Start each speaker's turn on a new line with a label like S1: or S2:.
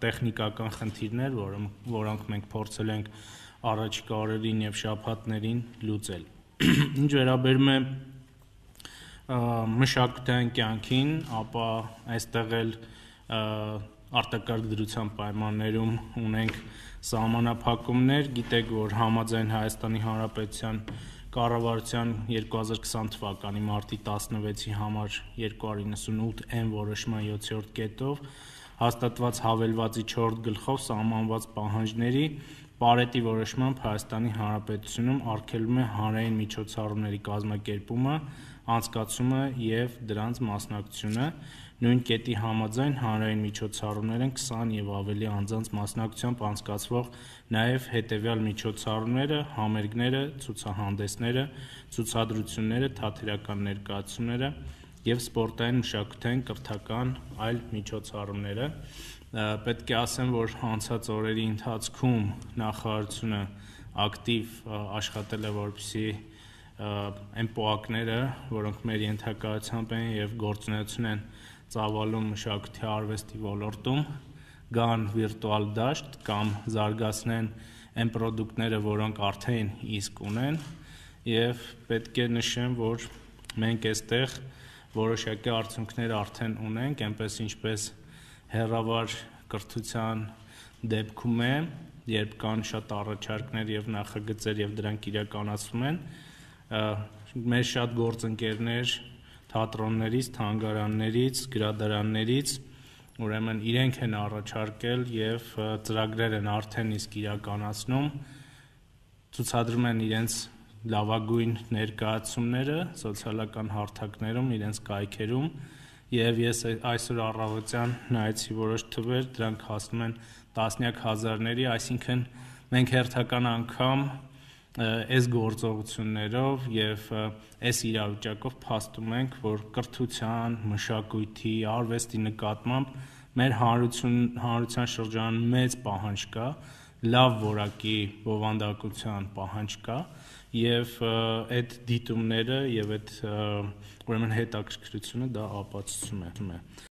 S1: տեխնիկական խնդիրներ, որոնք մենք փորձել ենք առաջիկա օրերին եւ շաբաթներին լուծել։ Ինչ վերաբերում է մշակութային կյանքին, ապա այստեղ էլ արտակարգ դրության պայմաններում ունենք սահմանափակումներ, գիտեք, որ համաձայն Հայաստանի Հանրապետության կառավարության 2020 թվականի մարտի 16-ի համար 298N որոշման 7-րդ կետով հաստատված հավելվածի 4 գլխով սահմանված պահանջների Պարետի որոշմամբ Հայաստանի Հանրապետությունում արգելվում է հանրային միջոցառումների կազմակերպումը, անցկացումը եւ դրանց մասնակցությունը, նույն կետի համաձայն հանրային միջոցառումներ են 20 եւ ավելի անձանց մասնակցությամբ անցկացվող նաեւ հետեւյալ միջոցառումները, համերգները, ցուցահանդեսները, ցուցադրությունները, թատերական ներկայացումները եւ սպորտային, մշակութային, կրթական այլ միջոցառումները։ Պետք է ասեմ, որ անցած օրերի ընթացքում նախարարությունը ակտիվ աշխատել է, որպեսզի այն պոակները, որոնք մեր ենթակայությամբ են եւ գործունեություն են ծավալում մշակույթի արվեստի ոլորտում, գան վիրտուալ դաշտ կամ զարգացնեն այն պրոդուկտները, որոնք արդեն իսկ ունեն, եւ պետք է նշեմ, որ մենք այստեղ որոշակի արդյունքներ արդեն ունենք, այնպես ինչպես հեռավար կրթության դեպքում է, երբ կան շատ առաջարկներ եւ նախագծեր եւ դրանք իրականացվում են, մեր շատ գործընկերներ թատրոններից, թանգարաններից, գրադարաններից, ուրեմն իրենք են առաջարկել եւ ծրագրեր են արդեն իսկ իրականացնում, ցուցադրում են իրենց լավագույն ներկայացումները սոցիալական հարթակներում, իրենց կայքերում եւ ես այսօր առավոտյան նայեցի որոշ թվեր, դրանք հասնում են տասնյակ հազարների, այսինքն մենք հերթական անգամ այս գործողություններով եւ այս իրավիճակով փաստում ենք, որ կրթության, մշակույթի, արվեստի նկատմամբ մեր հանրության շրջանում մեծ պահանջ կա, լավ որակի բովանդակության պահանջ կա եւ այդ դիտումները եւ այդ ուրեմն հետաքրքրությունը դա ապացուցում է։